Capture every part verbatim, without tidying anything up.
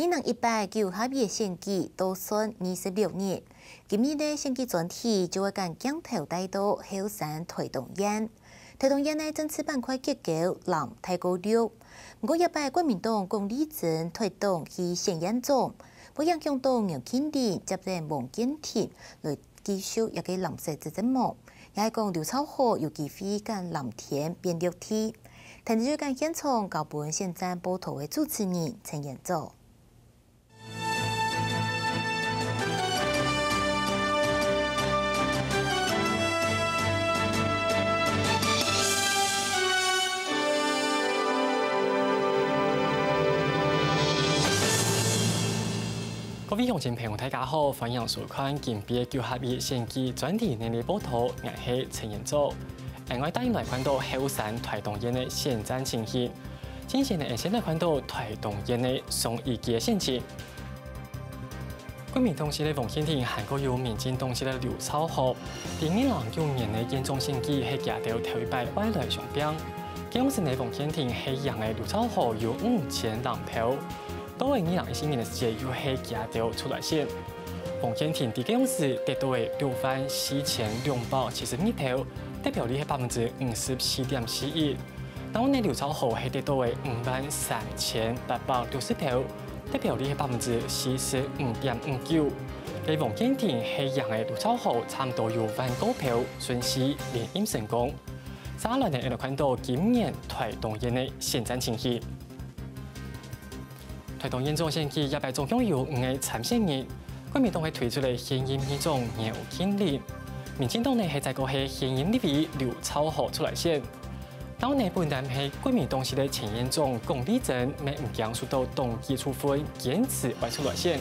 二零一八九合一選舉倒算二十六日，今日个選舉專題就會將鏡頭帶到後山臺東縣。臺東縣个政治板塊結構藍大過綠，毋過這擺國民黨柯立珍退黨去選縣長，會影響到楊慶林接任黃健庭來繼續這个藍色執政無？也係講劉朝豪有機會將藍天變綠地？聽日就將現場交分選戰報導个主持人陳彥祖。 各位鄉親朋友，大家好，歡迎收看今晡日个九合一選舉專題个報導，𠊎係陳彥祖。另外帶你來看到後山臺東縣个選戰情形。 首先呢，𠊎先來看到臺東縣个上一屆个選情。國民黨籍个黃健庭還過有民進黨籍个劉朝豪，在二零一九年个縣長選舉係佢兜頭一擺愛來相拚。該央時呢，黃健庭係贏了劉朝豪有五千零票，到了二零一四年个時節又係佢兜出來選。黃健庭在該央時得到了六萬四千兩百七十二票，得票率係百分之五十四點四一。 然後呢，劉朝豪係得到了五萬三千八百六十票，得票率係百分之四十五點五九。該黃健庭係贏了劉朝豪差毋多有萬過票，順序連任成功。接下來呢，𠊎兜看到今年臺東縣个選戰情形。 臺東縣長選舉這擺總共有五個參選人，國民黨係推出了現任議長姚慶林，民進黨呢係再過係現任立委劉朝豪出來選。然後呢，本來係國民黨籍个前縣長龔立珍，乜毋驚受到黨紀處分，堅持愛出來選。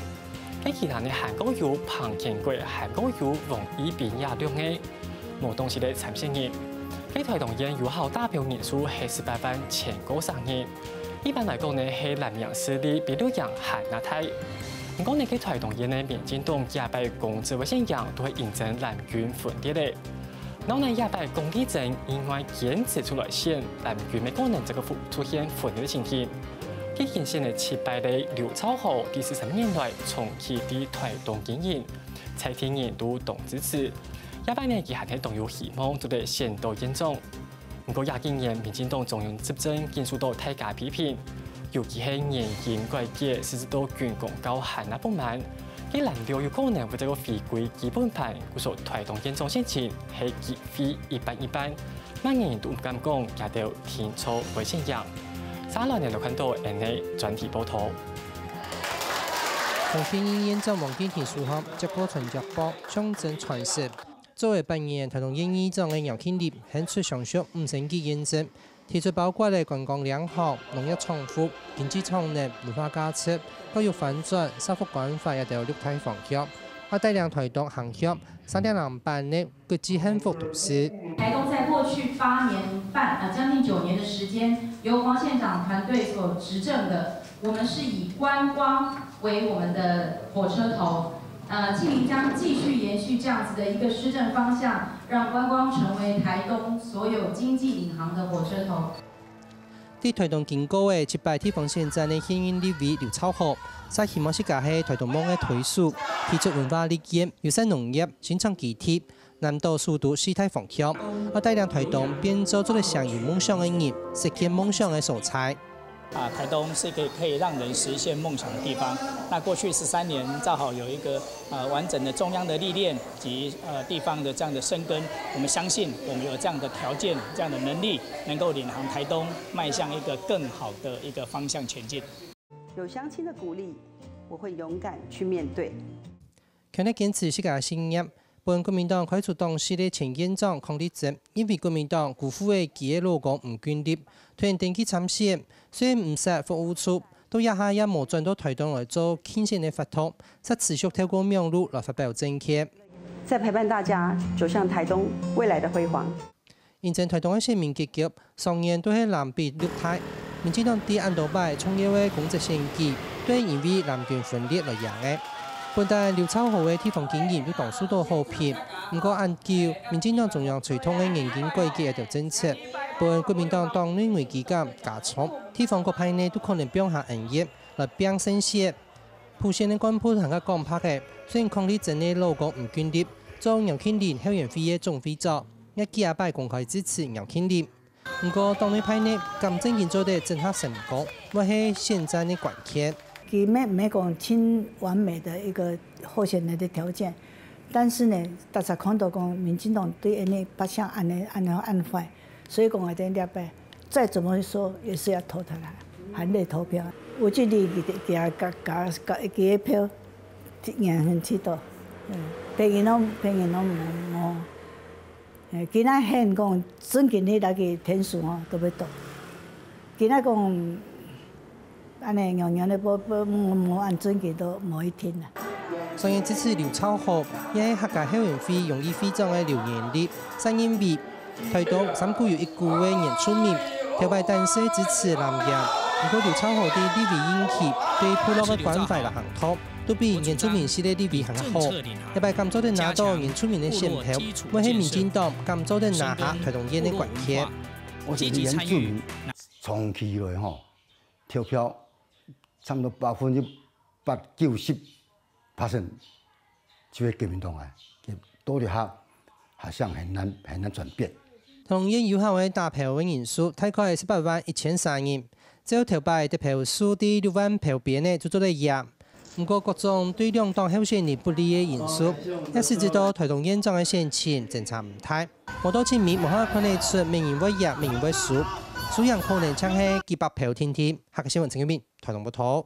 該其他呢還過有彭乾國，還過有王益斌這六個 無黨籍个參選人。該臺東縣有效打票人數係十八萬千過儕人。一般來講呢，係藍營勢力比綠營還較大。毋過呢，該臺東縣个民進黨這擺公職个選贏，都係因爭藍軍分裂个。然後呢，這擺龔立珍另外堅持出來選，藍軍乜可能再過出現分裂个情形。該當選个失敗个劉朝豪，在四十年來長期在臺東經營，在地人都當支持。 這擺呢，佢還係當有希望做得選到縣長。毋過這幾年，民進黨中央執政緊受到大家批評，尤其係年金改革，實施到軍公教還較不滿。該藍綠有可能會再過回歸基本盤，故所臺東縣長選情係機會一半一半，麼人都毋敢講佢兜定著會選贏。接下來呢，就看到𠊎兜个專題報導。同現任縣長黃健庭首相接過傳腳步，象徵傳承。 做了八年臺東縣議長个姚慶林，行出相熟五星級縣政，提出包括了觀光領航、農業創富、經濟創能、文化價值、教育翻轉、社福關懷這兜六大方向，還帶領臺東行向三點零版个國際幸福都市。台東在过去八年半，呃，将近九年的时间，由黄县长团队所执政的，我们是以观光为我们的火车头， 呃，庆林将继续延续这样子的一个施政方向，让观光成为台东所有经济领航的火车头。在臺東經過个七屆地方選戰个現任立委劉朝豪，就希望自家係臺東夢个推手，提出文化旅遊、友善農業、生產基地、南島首都四大方向，愛帶領臺東變做做得實現夢想个人，實現夢想个所在。 啊，台东是一个可以让人实现梦想的地方。那过去十三年，正好有一个，呃，完整的中央的历练及，呃，地方的这样的深耕，我们相信我们有这样的条件、这样的能力，能够领航台东迈向一个更好的一个方向前进。有乡亲的鼓励，我会勇敢去面对。 強烈堅持自家个信念，分國民黨開除黨籍个前縣長鄺立珍，因為國民黨辜負了佢个老公吳君立，突然登記參選，雖然毋設服務處，到這下也無轉到台東來做競選个活動，煞持續透過網路來發表政見。在陪伴大家走向台东未来的辉煌。 因爭台東个選民結局，上演都係藍白綠大。民進黨在恁多擺重要个公職選舉，都係因為藍軍分裂來贏个。本旦劉朝豪个地方經營都當受到好評，毋過恁久，民進黨中央推動个年金改革个政策，分國民黨黨內危機感加重，地方各派系都可能放下恩怨來拚勝選。普選个幹部還較講白个，雖然伉儷真个老公吳俊立做饒慶林後援會个總會長，也幾下擺公開支持饒慶林。毋過黨內派系敢正經做得整合成功，會係選戰个關鍵。佢乜毋係講盡完美的一個候選人的條件，但是呢，大家看到講民進黨對𠊎等百姓恁呢恁呢恁壞，所以講𠊎等這擺再怎麼說也是要投他啦，含淚投票。有這裡佢佢佢佢佢个票，贏很幾多，嗯，別人攏別人攏無無。 誒，今仔現講，準今日來去天數吼，都要到。今仔講，恁呢，樣樣咧，無無無無恁準，佢都無一定啦。上屆支持劉兆豪，也係客家後援會榮譽會長个劉元立，就認為，台東三股有一股个原住民，頭擺單勢支持藍營，毋過劉兆豪對立委任期、對部落个關懷摎行動，都比原住民系个立委還較好。 這擺敢做得拿到原住民个選票，會係民進黨敢做得拿下台東縣个關鍵。我覺得原住民長期以來吼，投票差不多百分之八九十percent就係國民黨啊，到底還還像很難很難轉變。台東縣有效个打票个人數大概係十八萬一千三人，照頭擺得票數在六萬票邊个就做得贏。 毋過各種對兩黨候選人不利个因素，也使得到台東縣長个選情爭差毋大。無到盡尾，無法看得出麼人會贏，麼人會輸。輸贏可能淨係幾百票定定。客家新聞陳建明，台東報導。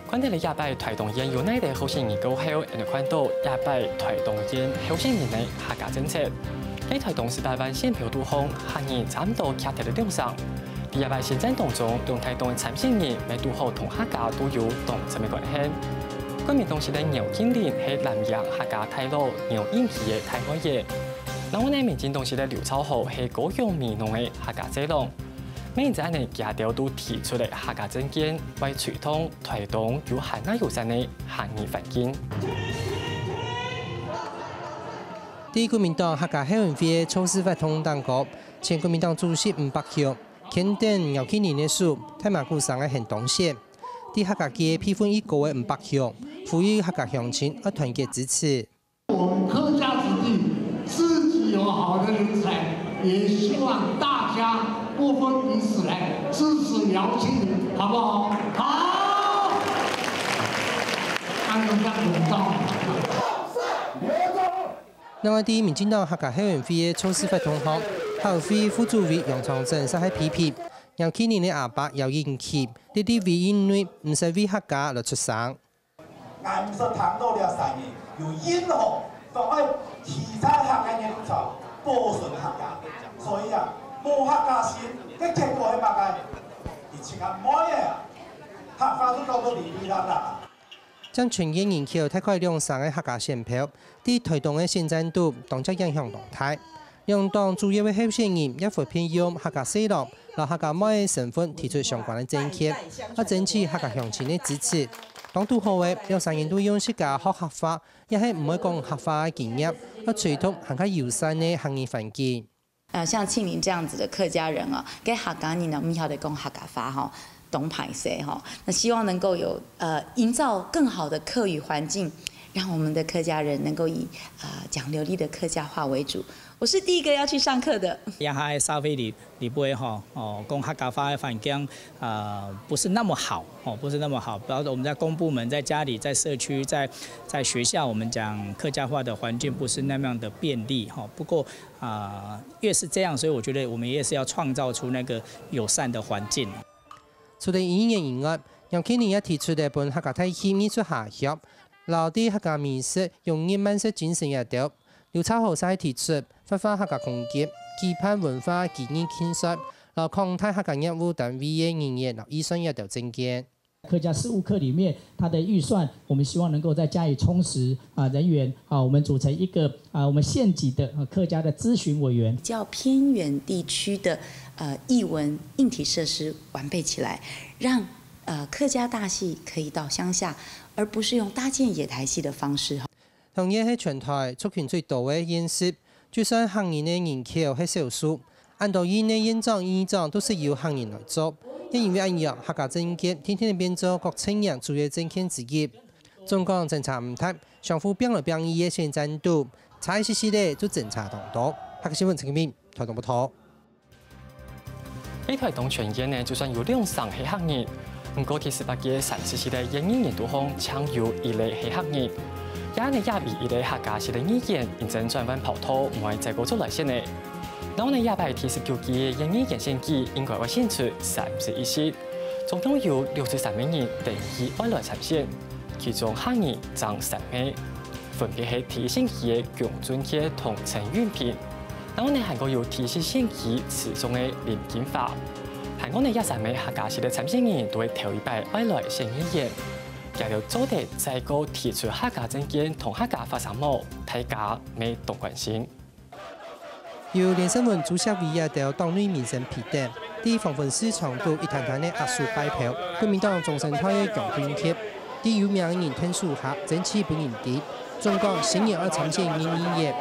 看忒了這擺台東縣有哪兜候選人過後，𠊎等看到這擺台東縣候選人个客家政策。在台東十八萬選票肚項，客語差毋多徛忒了兩成。 在這擺選戰當中，兩大黨个參選人乜堵好同客家都有當深个關係。國民黨籍个饒慶林係藍營客家大佬饒永琪个大妹仔。另外呢，民進黨籍个劉兆豪係高雄美濃个客家婿郎。乜因此恁呢，佢兜都提出了客家政見，會推動台東有還較友善个客語環境。在國民黨客家後援會个造勢活動當中，前國民黨主席吳伯雄 牽等饒慶林个手，大嫲牯聲个喊當選。在客家界輩分已高个吳伯雄，呼籲客家鄉親愛團結支持。我們客家子弟自己有好的人才，也希望大家不分彼此來支持饒慶林，好不好？好！按照這樣子到。 另外，在民進黨客家後援會个造勢活動項，客委會副主委楊長鎮就係批評，饒慶林个阿伯饒永琪，在立委任內毋識為客家來出聲。𠊎毋識聽到這三年有任何講愛提倡客家人才、保存客家，所以啊，無客家心，該結果係麼个？你自家妹仔啊，客話都講到離離落落啊！ 佔全縣人口大概兩成个客家選票，在台東个選戰肚當然影響當大。兩黨主要个候選人也分別用客家婿郎摎客家妹个身份提出相關个政見，愛爭取客家鄉親个支持。當堵好个，兩儕人都用自家學客話，也係毋會講客話个經驗，愛推動還較友善个客語環境。 呃，像慶林這樣子的客家人啊，該客家人呢，毋曉得講客家話吼，當歹勢吼。那希望能夠有，呃，營造更好的客語環境，讓我們的客家人能夠以，呃，講流利的客家話為主。我是第一個要去上課的。也還社會裡，裡背吼，哦，講客家話的環境，呃，不是那麼好，哦，不是那麼好。比方說我們在公部門、在家裡、在社區、在，在學校，我們講客家話的環境不是那麼樣的便利，吼。不過， 啊，越是這樣，所以我覺得我們越是要創造出那個友善的環境。除了語言以外，楊慶林也提出了分客家大戲藝術下鄉，摎對客家美食融入慢食精神這兜。劉朝豪就提出活化客家空間，舉辦文化技藝競賽，摎擴大客家業務單位个人員摎預算這兜政見。 客家事務課裡面，它的預算，我們希望能夠再加以充實，啊，人員，啊，我們組成一個，啊，我們縣級的，啊，客家的諮詢委員。比較偏遠地區的，呃，藝文硬體設施完備起來，讓，呃，客家大戲可以到鄉下，而不是用搭建野台戲的方式。同樣係全台族群最多个縣市，就算客人个人口係少數，恁多縣个縣長、議長都係由客人來做，也因為恁樣，客家政見天天變做各陣營主要政見之一。總講政策毋同，相互拚來拚去个選戰肚，差一息息仔就爭差當多。客家新聞陳金明，台東報導。 在台東全縣呢，就算有兩成係客人，毋過第十八屆三十七个縣議員肚項，淨有一个係客人。這呢，也為一个客家式个語言，因爭轉換跑道，毋會再過出來選呢。然後呢，這擺第十九屆个縣議員選舉，應該會選出三十一席，總共有六十三个人登記愛來參選，其中客人佔三个。 分別係第一選區个江俊傑同陳允平，然後呢還過有第四選區池上个林金發。還過呢，這三个客家籍个參選人都係頭一擺愛來選議員，佢兜做得再過提出客家政見同客家發聲無，大家乜當關心。 由連勝文主席為个一兜黨內民生埤等，在黃昏市場肚一攤攤个握手拜票，國民黨中生代个江俊傑，在有名个人𢯭手下爭取分人知。總講新人愛參選縣議員，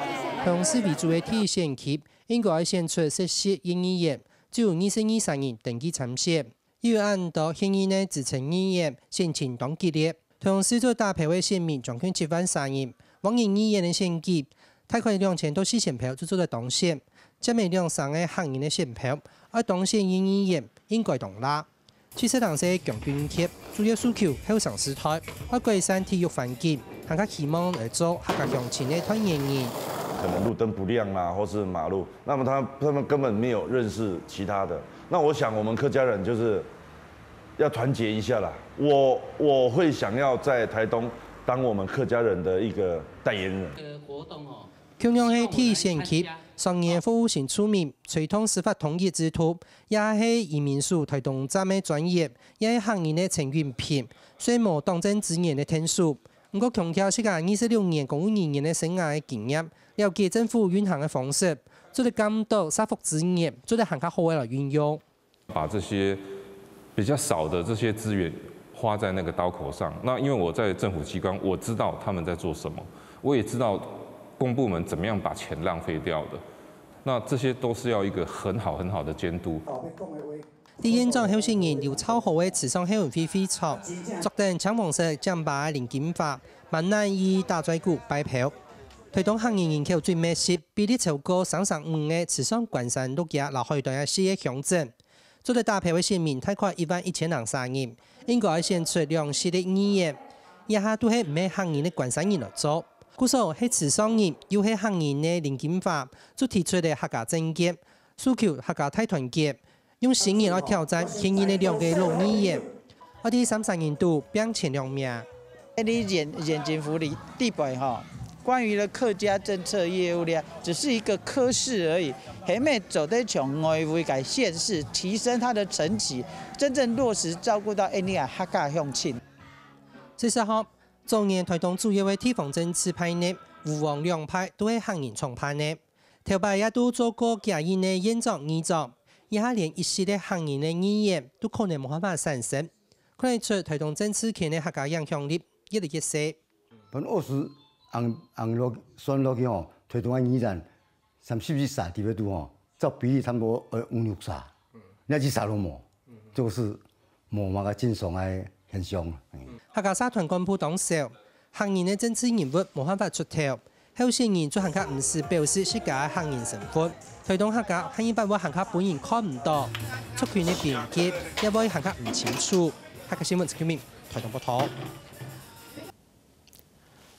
同時為主个第一選區，應該愛選出十席縣議員，只有二十二儕人登記參選。 又有恁多現任个資深議員選情當激烈，同時做得打票个選民將近七萬儕人，往年議員个選舉，大概兩千到四千票就做得當選。佔了兩成个客人个選票，愛當選縣議員應該當難。七十零歲个江俊傑主要訴求後生世代愛改善體育環境，還較希望來做客家鄉親个代言人。可能路燈不亮啦，或是馬路，那麼他，他們根本沒有認識其他的。那我想我們客家人就是 要團結一下啦。我，我會想要在台東當我們客家人的一個代言人。共樣係第一選區，上屆服務性出名，推動司法通譯制度，也係移民署台東站个專員，也係客人个陳允平，雖無黨政資源个𢯭手，毋過強調自家二十六年公務人員个生涯个經驗，了解政府運行个方式，做得監督社福資源，做得還較好个來運用。 把這些比較少的這些資源花在那個刀口上。那因為我在政府機關，我知道他們在做什麼，我也知道公部門怎麼樣把錢浪費掉的。那這些都是要一個很好很好的監督。在縣長候選人劉朝豪个池上後援會會場，著等青黃色尖巴个林金發，滿滿意打嘴鼓拜票。台東客人人口最密集，比例超過三成五个池上關山鹿野摎海端个四个鄉鎮。 做得打票个選民大概一萬一千零儕人，應該愛選出兩席个議員，這下都係毋係客人个關山人來做。故所係池上人又係客人个林金發，就提出了客家政見，訴求客家大團結，用新人來挑戰現任个兩个老議員，愛在三儕人肚拚前兩名。 你眼，眼前福利地北哈，關於的客家政策業務呢，只是一個科室而已，還沒走得從外圍改縣市，提升它的層級，真正落實照顧到印尼啊客家鄉親。事實上，早年台東主要个地方政治派呢，烏黃兩派都係客人創辦个。頭擺也都做過幾任个縣長、議長，這下連一席个客人个議員都可能無辦法產生。 看得出台東政治圈个客家影響力越來越細。本來是紅，紅落，算落去吼，台東个議員三十一席裡背肚吼，照比例差不多，呃，五六席，那一席都無，這個是無麼个正常个現象。嗯。客家社團幹部當少，客人个政治人物無辦法出頭， 候選人就還較毋使表示自家个客人身份。台東客家下一擺會還較分人看毋到，族群个邊界也會還較毋清楚。客家新聞陳啟明，台東報導。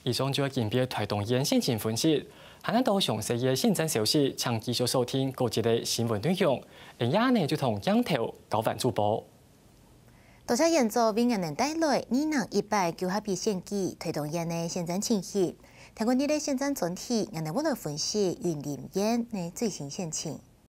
以上就係今晡日台東縣選情分析，還有多詳細个選戰消息，請繼續收聽各節个新聞內容。恁樣呢就同鏡頭交還主播。 多謝員佐為𠊎等帶來二零一八九合一選舉台東縣个選戰情形。聽過你个選戰專題，𠊎等會來分析雲林縣个最新選情。